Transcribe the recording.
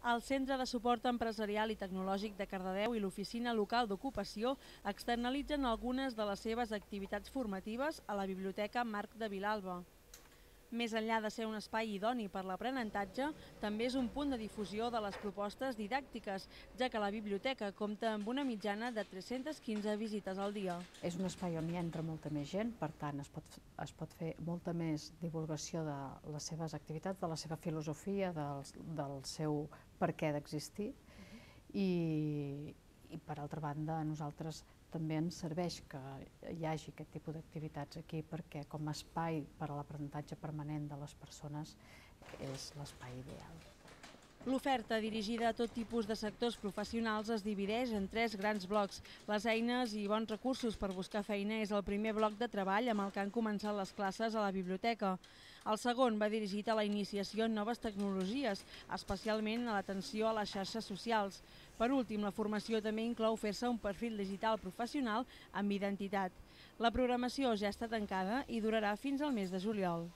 El Centre de Suport Empresarial i Tecnològic de Cardedeu i l'Oficina Local d'Ocupació externalitzen algunes de les seves activitats formatives a la Biblioteca Marc de Vilalba. Més enllà de ser un espai idoni per l'aprenentatge, també és un punt de difusió de les propostes didàctiques, ja que la biblioteca compta amb una mitjana de 315 visites al dia. És un espai on hi entra molta més gent, per tant es pot fer molta més divulgació de les seves activitats, de la seva filosofia, del seu per què d'existir i per altra banda a nosaltres també ens serveix que hi hagi aquest tipus d'activitats aquí perquè com a espai per a l'aprenentatge permanent de les persones és l'espai ideal. L'oferta, dirigida a tot tipus de sectors professionals, es divideix en 3 grans blocs. Les eines i bons recursos per buscar feina és el primer bloc de treball amb el que han començat les classes a la biblioteca. El segon va dirigit a la iniciació en noves tecnologies, especialment a l'atenció a les xarxes socials. Per últim, la formació també inclou fer-se un perfil digital professional amb identitat. La programació ja està tancada i durarà fins al mes de juliol.